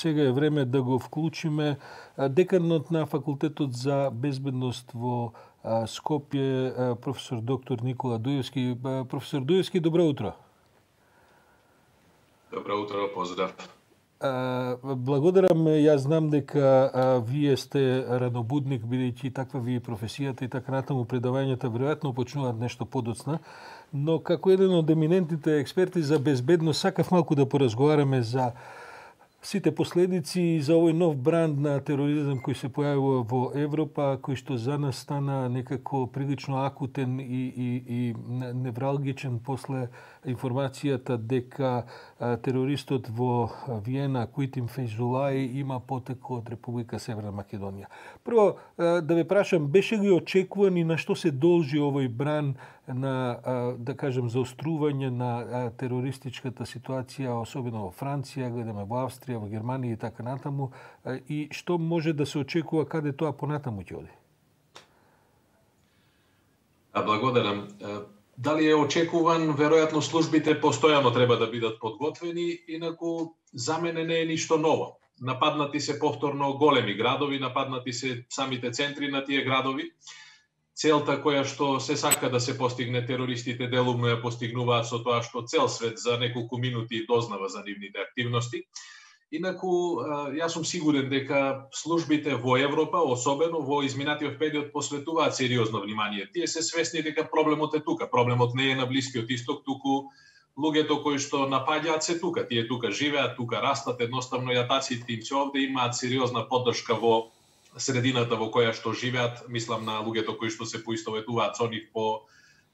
сега е време да го вклучиме деканот на Факултетот за безбедност во Скопје, професор доктор Никола Дуевски. Професор Дуевски, добро утро. Добро утро, поздрав. Благодарам, јас знам дека вие сте ранобудник, бидејќи таква ви е професијата и така натаму, предавањата веројатно почнуваат нешто подоцна, но како еден од еминентните експерти за безбедност сакав малку да поразговараме за сите последици и за овој нов бранд на тероризам кој се појавува во Европа, кој што за нас стана некако прилично акутен и невралгичен после информацијата дека терористот во Виена, Куитин Фейзулаи, има потекло од Република Северна Македонија. Прво, да ве прашам, беше ли очекуван и на што се должи овој бран на, да кажем, заострување на терористичката ситуација, особено во Франција, гледаме во Австрија, во Германија и така натаму, и што може да се очекува, каде тоа понатаму ќе оди? Благодарам. Дали е очекуван? Веројатно службите постојано треба да бидат подготвени, инаку за мене не е ништо ново. Нападнати се повторно големи градови, нападнати се самите центри на тие градови. Целта која што се сака да се постигне, терористите делумно ја постигнуваат со тоа што цел свет за неколку минути дознава за нивните активности. Инаку, јас сум сигурен дека службите во Европа, особено во изминатиот период, посветуваат сериозно внимание. Тие се свесни дека проблемот е тука. Проблемот не е на Блискиот Исток, туку луѓето кои што напаѓаат се тука. Тие тука живеат, тука растат, едноставно јатаците им се овде, имаат сериозна поддршка во средината во која што живеат, мислам на луѓето кои што се поистоветуваат со нив по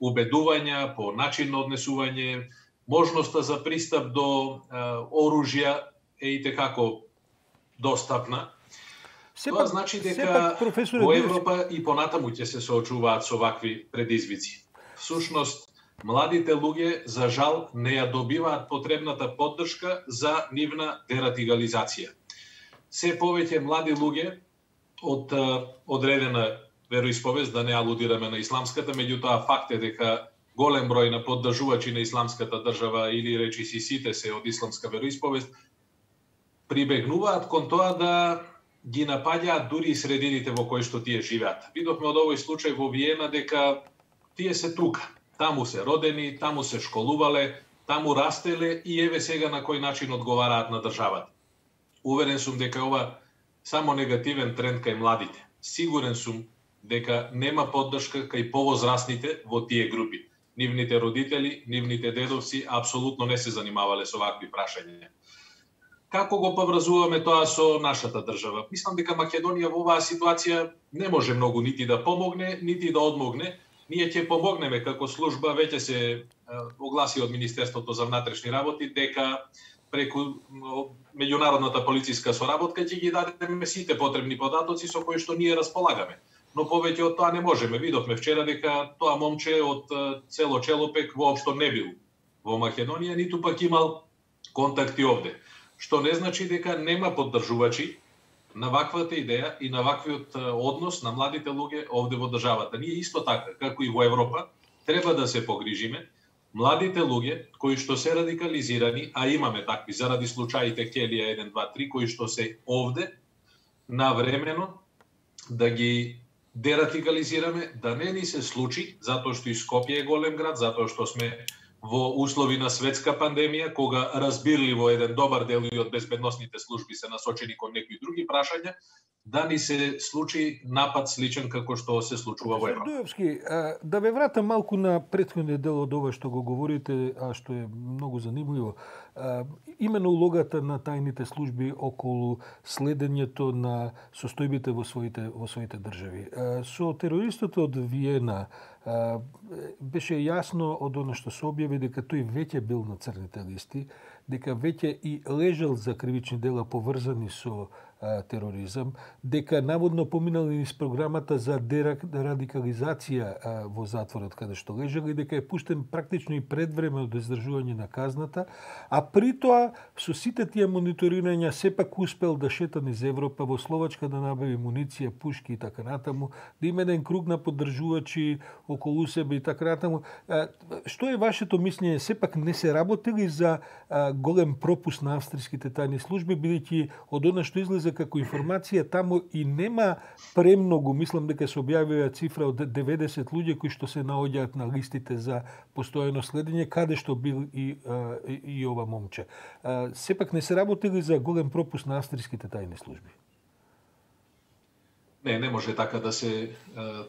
убедувања, по начин на однесување, можноста за пристап до оружја е и tekako достапна. Тоа значи дека во Европа и понатаму ќе се соочуваат со вакви предизвици. Всушност, младите луѓе, за жал, не ја добиваат потребната поддршка за нивна дерадикализација. Се повеќе млади луѓе од одредена вероисповест, да не алудираме на исламската, меѓутоа факт е дека голем број на поддржувачи на исламската држава или речиси сите се од исламска вероисповест, прибегнуваат кон тоа да ги напаѓаат дури и средините во кои што тие живеат. Видовме од овој случај во Виена дека тие се тука. Таму се родени, таму се школувале, таму растеле и еве сега на кој начин одговараат на државата. Уверен сум дека ова само негативен тренд кај младите. Сигурен сум дека нема поддршка кај повозрасните во тие групи. Нивните родители, нивните дедовци апсолутно не се занимавале со вакви прашања. Како го поврзуваме тоа со нашата држава? Мислам дека Македонија во оваа ситуација не може многу нити да помогне, нити да одмогне. Ние ќе помогнеме како служба, веќе се огласи од Министерството за внатрешни работи дека преку меѓународната полициска соработка ќе ги дадеме сите потребни податоци со кои што ние располагаме. Но повеќе од тоа не можеме. Видовме вчера дека тоа момче од село Челопек воопшто не бил во Македонија, ниту пак имал контакти овде. Што не значи дека нема поддржувачи на ваквата идеја и на ваквиот однос на младите луѓе овде во државата. Ние исто така, како и во Европа, треба да се погрижиме младите луѓе кои што се радикализирани, а имаме такви заради случаите Келија 1, 2, 3, кои што се овде, навремено да ги дерадикализираме, да не ни се случи, затоа што и Скопје е голем град, затоа што сме во услови на светска пандемија, кога разбирливо еден добар дел и од безбедносните служби се насочени кон некои други прашања, да ни се случи напад сличен како што се случува во Европа. Дуевски, да ве вратам малку на претходниот дел од ова што го говорите, а што е многу занимливо. Именно улогата на тајните служби околу следењето на состојбите во своите држави. Со терористот од Виена беше јасно од оно што се објави дека тој веќе бил на црните листи, дека веќе и лежал за кривични дела поврзани со тероризам, дека наводно поминали низ програмата за дерадикализација во затворот каде што лежал и дека е пуштен практично и пред време од издржување на казната, а при тоа со сите тие мониторирања сепак успел да шета низ Европа, во Словачка да набави муниција, пушки и така натаму, да има еден круг на поддржувачи околу себе и така натаму. Што е вашето мислење? Сепак не се работели за голем пропуск на австриските тајни служби, бидејќи од она што излезе како информација таму и нема премногу, мислам дека се објавила цифра од 90 луѓе кои што се наоѓаат на листите за постојано следење, каде што бил и ова момче. Сепак не се работели за голем пропуск на австриските тајни служби. Не може така да се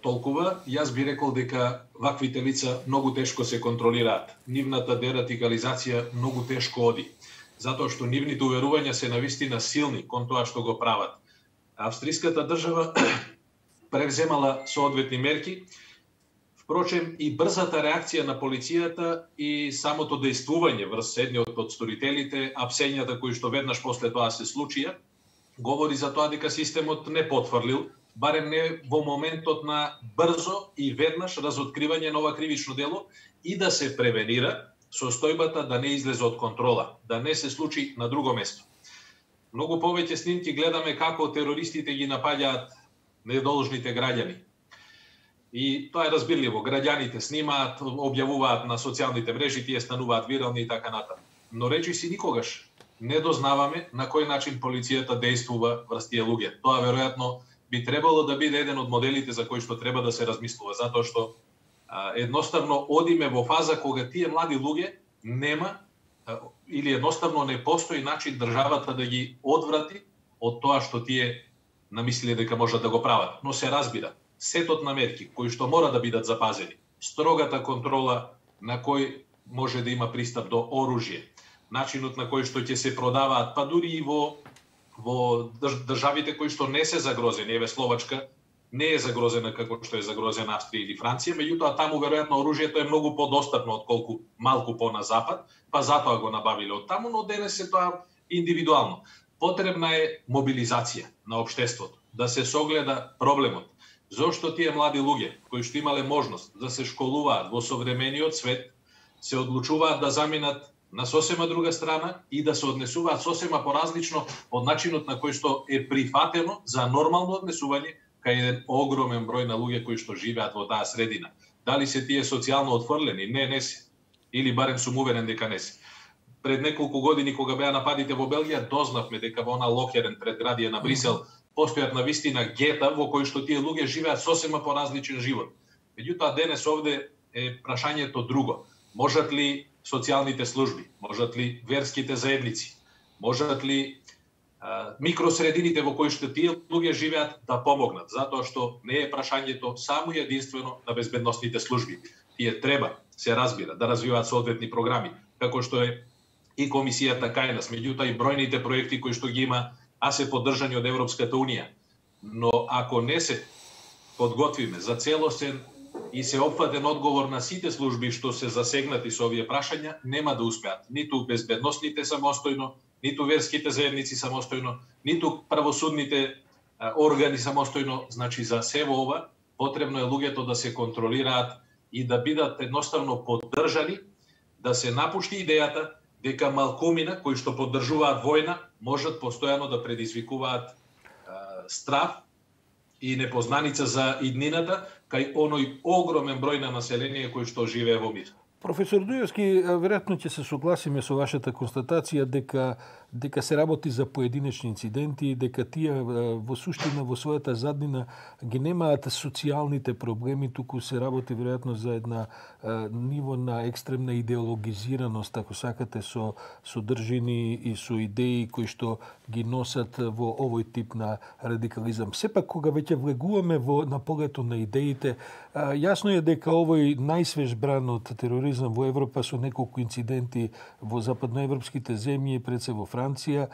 толкува. Јас би рекол дека ваквите лица многу тешко се контролираат. Нивната дерадикализација многу тешко оди, затоа што нивните уверувања се навистина силни кон тоа што го прават. Австриската држава превземала соодветни мерки. Впрочем, и брзата реакција на полицијата и самото дејствување врз едниот од сторителите, апсењата кои што веднаш после тоа се случија, говори за тоа дека системот не потврлил, барем не во моментот на брзо и веднаш разоткривање на ова кривично дело и да се превенира состојбата да не излезе од контрола, да не се случи на друго место. Многу повеќе снимки гледаме како терористите ги напаѓаат недолжните граѓани. И тоа е разбирливо. Граѓаните снимаат, објавуваат на социјалните мрежи, тие стануваат вирални и така натаму. Но речиси никогаш не дознаваме на кој начин полицијата дејствува врз тие луѓе. Тоа веројатно би требало да биде еден од моделите за кои што треба да се размислува, затоа што едноставно одиме во фаза кога тие млади луѓе нема или едноставно не постои начин државата да ги одврати од тоа што тие намислиле дека можат да го прават. Но се разбира, сетот на мерки кои што мора да бидат запазени, строгата контрола на кој може да има пристап до оружје, начинот на кој што ќе се продаваат, па дури и во државите кои што не се загрозени, еве Словачка не е загрозена како што е загрозена Австрија или Франција, меѓутоа таму веројатно оружјето е многу подостапно отколку малку по на запад, па затоа го набавиле од таму, но денес е тоа индивидуално. Потребна е мобилизација на општеството, да се согледа проблемот. Зошто тие млади луѓе кои што имале можност да се школуваат во современиот свет, се одлучуваат да заминат на сосема друга страна и да се однесуваат сосема поразлично од начинот на кој што е прифатено за нормално однесување кај еден огромен број на луѓе кои што живеат во таа средина. Дали се тие социјално отфрлени? Не се. Или барем сум уверен дека не се. Пред неколку години кога беа нападите во Белгија, дознавме дека во она Локерен предградие на Брисел постојат навистина гета во кои што тие луѓе живеат сосема поразличен живот. Меѓутоа денес овде е прашањето друго. Можат ли социјалните служби, можат ли верските заедници, можат ли микросредините во кои што тие луѓе живеат да помогнат, затоа што не е прашањето само и единствено на безбедносните служби. Тие треба, се разбира, да развиваат соодветни програми, како што е и комисијата кај нас, меѓутоа и бројните проекти кои што ги има, а се поддржани од Европската унија. Но ако не се подготвиме за целосен и се опфатен одговор на сите служби што се засегнати со овие прашања, нема да успеат. Ниту безбедносните самостојно, ниту верските заедници самостојно, ниту правосудните органи самостојно. Значи, за се во ова, потребно е луѓето да се контролираат и да бидат едноставно поддржани, да се напушти идејата дека малкумина кои што поддржуваат војна можат постојано да предизвикуваат страв и непознаница за иднината кај оној огромен број на население кој што живее во мир. Професор Дујовски, веројатно ќе се согласиме со вашата констатација дека се работи за поединечни инциденти, дека тие во суштина во својата заднина ги немаат социјалните проблеми, туку се работи веројатно за една ниво на екстремна идеологизираност, ако сакате, со содржини и со идеи кои што ги носат во овој тип на радикализам. Сепак, кога веќе влегуваме на полето на идеите, јасно е дека овој најсвеж бран од тероризам во Европа со неколку инциденти во западноевропските земји, пред се во Франција, Франција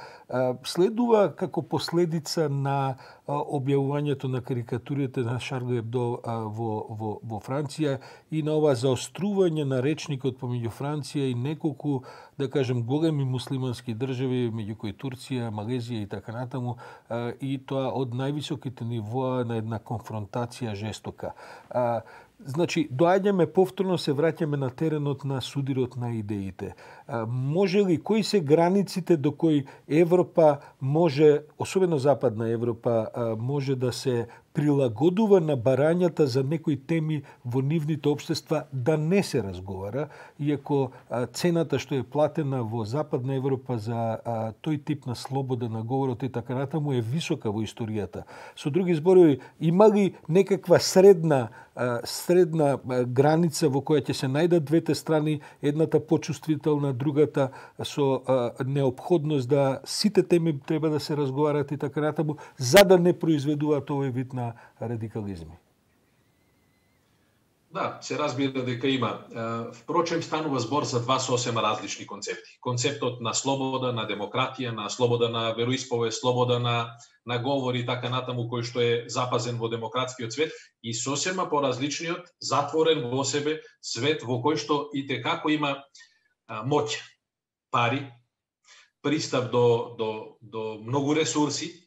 следува како последица на објавувањето на карикатурите на Шарл Ебдо во Франција и на ова заострување на речникот помеѓу Франција и неколку, да кажем, големи муслимански држави, меѓу кои Турција, Малезија и така натаму, и тоа од највисоките нивоа на една конфронтација жестока. Значи, доаѓаме повторно, се враќаме на теренот на судирот на идеите. Може ли, кои се границите до кои Европа може, особено Западна Европа, може да се прилагодува на барањата за некои теми во нивните општества да не се разговара, иако цената што е платена во Западна Европа за тој тип на слобода на говорот и така натаму е висока во историјата. Со други зборови, има ли некаква средна граница во која ќе се најдат двете страни, едната почувствителна, другата со неопходност да сите теми треба да се разговарат и така натаму, за да не произведуваат овој вид на радикализми? Да, се разбира дека има. Впрочем, станува збор за два сосема различни концепти. Концептот на слобода, на демократија, на слобода на вероисповест, слобода на говор и така натаму, кој што е запазен во демократскиот свет, и сосема поразличниот, затворен во себе свет во кој што и текако има моќ, пари, пристап до многу ресурси,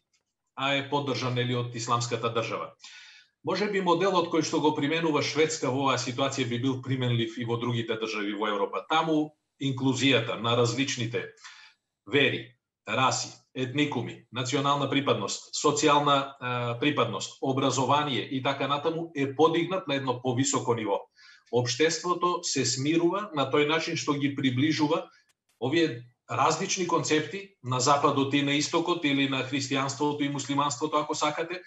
а е поддржан од исламската држава. Може би моделот кој што го применува Шведска во оваа ситуација би бил применлив и во другите држави во Европа. Таму инклузијата на различните вери, раси, етникуми, национална припадност, социјална припадност, образование и така натаму е подигнат на едно повисоко ниво. Општеството се смирува на тој начин што ги приближува овие различни концепти на западот и на истокот, или на христијанството и муслиманството, ако сакате,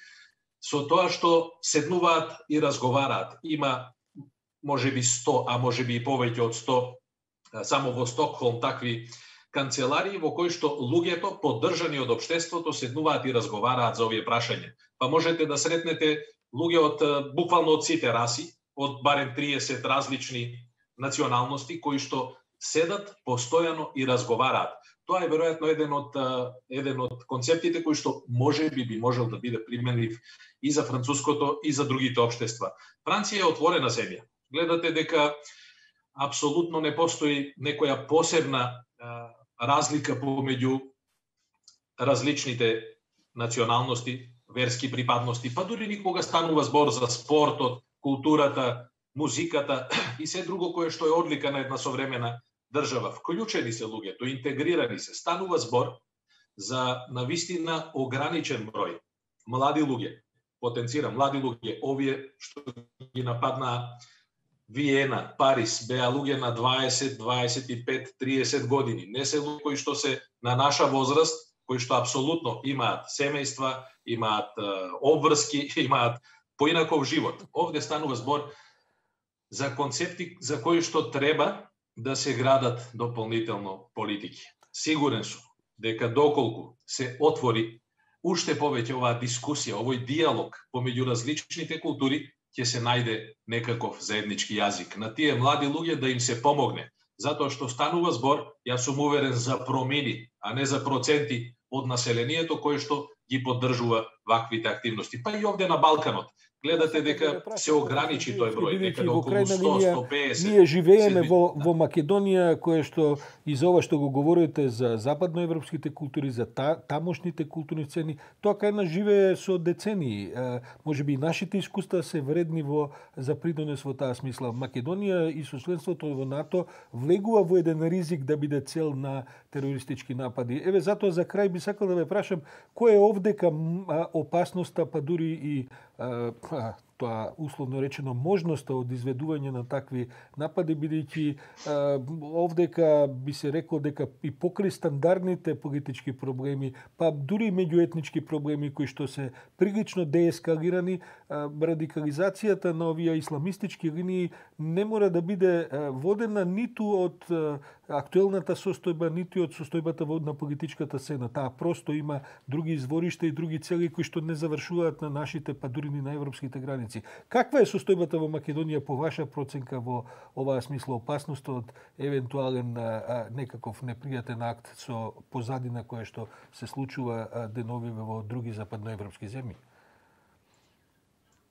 со тоа што седнуваат и разговараат. Има можеби 100, а можеби и повеќе од 100 само во Стокхолм такви канцеларии во кои што луѓето поддржани од општеството седнуваат и разговараат за овие прашања. Па можете да сретнете луѓе од буквално од сите раси, од барем 30 различни националности кои што седат постојано и разговараат. Тоа е веројатно еден од концептите кои што можеби би можел да биде применлив и за француското и за другите општества. Франција е отворена земја. Гледате дека апсолутно не постои некоја посебна разлика помеѓу различните националности, верски припадности, па дури никога станува збор за спортот, културата, музиката и се друго кое што е одлика на една современа држава. Вклучени се луѓето, интегрирани се. Станува збор за навистина ограничен број млади луѓе, потенцирам млади луѓе, овие што ги нападна Виена, Париз, беа луѓе на 20, 25, 30 години. Не се луѓе кои што се на наша возраст, кои што апсолутно имаат семејства, имаат обврски, имаат поинаков живот. Овде станува збор за концепти за кои што треба да се градат дополнително политики. Сигурен сум дека доколку се отвори уште повеќе оваа дискусија, овој диалог помеѓу различните култури, ќе се најде некаков заеднички јазик. На тие млади луѓе да им се помогне, затоа што станува збор, јас сум уверен, за промени, а не за проценти од населението кој што ги поддржува ваквите активности. Па и овде на Балканот. Гледате дека се ограничи тој број, дека околу 100-150. Ние живееме во Македонија, кое што и за ова што го говорите за западноевропските култури, за тамошните културни цени, тоа кај нас живее со децении. Можеби и нашите искуства се вредни за придонес во таа смисла. Македонија и со членството во НАТО влегува во еден ризик да биде цел на терористички напади. Еве, затоа за крај би сакал да ве прашам, кој е овдека опасноста, па дури и тоа условно речено можноста од изведување на такви напади, бидејќи овдека би се рекло дека и покрај стандардните политички проблеми, па дури меѓуетнички проблеми кои што се прилично деескалирани, радикализацијата на овие исламистички линии не мора да биде водена ниту од актуелната состојба, ниту од состојбата на политичката сцена. Таа просто има други изворишта и други цели кои што не завршуваат на нашите, па дури ни на европските граници. пратеници. Каква е состојбата во Македонија по ваша проценка во оваа смисла, опасност од евентуален некаков непријатен акт со позадина која што се случува деновиве во други западноевропски земји?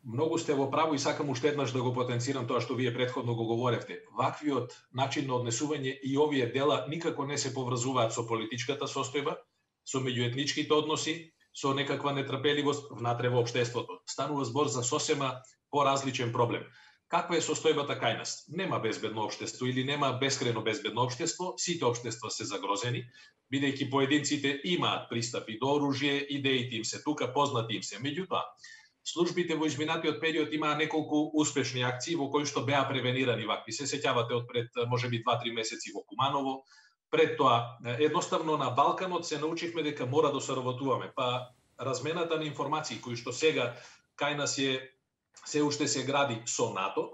Многу сте во право и сакам уште еднаш да го потенцирам тоа што вие претходно го говоревте. Ваквиот начин на однесување и овие дела никако не се поврзуваат со политичката состојба, со меѓуетничките односи, со некаква нетрпеливост внатре во општеството. Станува збор за сосема поразличен проблем. Каква е состојбата кај нас? Нема безбедно општество или нема бескрајно безбедно општество, сите општества се загрозени, бидејќи поединците имаат пристапи до оружје, идеите им се тука, познати им се. Меѓутоа, службите во изминатиот период имаа неколку успешни акции во кои што беа превенирани вакви. Се сеќавате од пред можеби 2-3 месеци во Куманово. Пред тоа, едноставно на Балканот се научивме дека мора да соработуваме. Па размената на информации кои што сега кај нас се уште се гради со НАТО,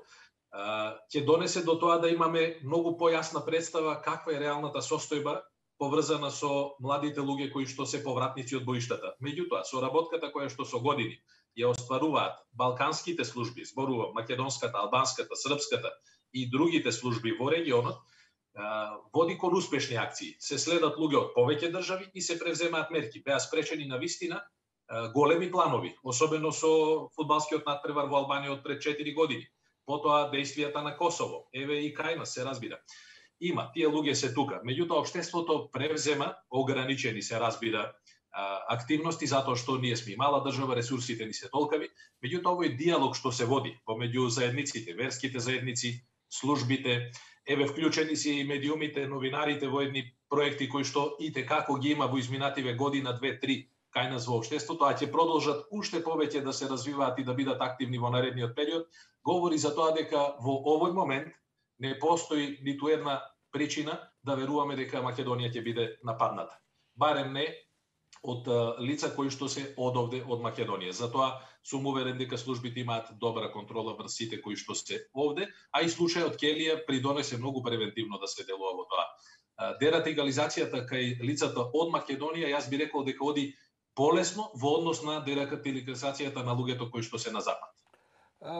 ќе донесе до тоа да имаме многу појасна представа каква е реалната состојба поврзана со младите луѓе кои што се повратници од боиштата. Меѓутоа, соработката која што со години ја остваруваат балканските служби, зборувам македонската, албанската, српската и другите служби во регионот, води кон успешни акции. Се следат луѓе од повеќе држави и се превземаат мерки. Беа спречени на вистина големи планови, особено со фудбалскиот натпревар во Албанија од пред 4 години. Потоа действијата на Косово, еве и кај нас се разбира. Има, тие луѓе се тука. Меѓутоа, општеството превзема, ограничени се разбира, активности, затоа што ние сме мала држава, ресурсите ни се толкави. Меѓутоа, овој диалог што се води помеѓу заедниците, верските заедници, службите, еве вклучени се и медиумите, новинарите во едни проекти кои што и како ги има во изминативе година, 2-3 кај нас во општеството, а ќе продолжат уште повеќе да се развиваат и да бидат активни во наредниот период, говори за тоа дека во овој момент не постои ниту една причина да веруваме дека Македонија ќе биде нападната. Барем не од лица кои што се одовде од Македонија. Затоа сум уверен дека службите имаат добра контрола врз сите кои што се овде, а и случајот Келија придонесе многу превентивно да се делува во тоа. Дерадикализацијата кај лицата од Македонија, јас би рекол дека оди полесно во однос на дерадикализацијата на луѓето кои што се на запад.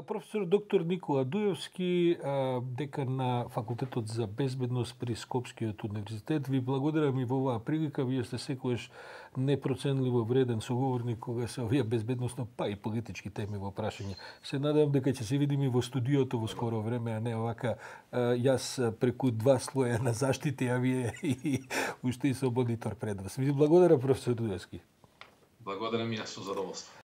Професор доктор Никола Дуевски, декан на Факултетот за безбедност при Скопскиот универзитет, ви благодарам и во оваа прилика. Вие сте секојаш непроценливо вреден соговорник кога се овие безбедносно, па и политички теми во прашање. Се надевам дека ќе се видиме во студиото во скоро време, а не овака јас преку 2 слоја на заштити, а вие и уште и со монитор пред вас. Ви благодарам, професор Дуевски. Благодарам и јас со задоволство.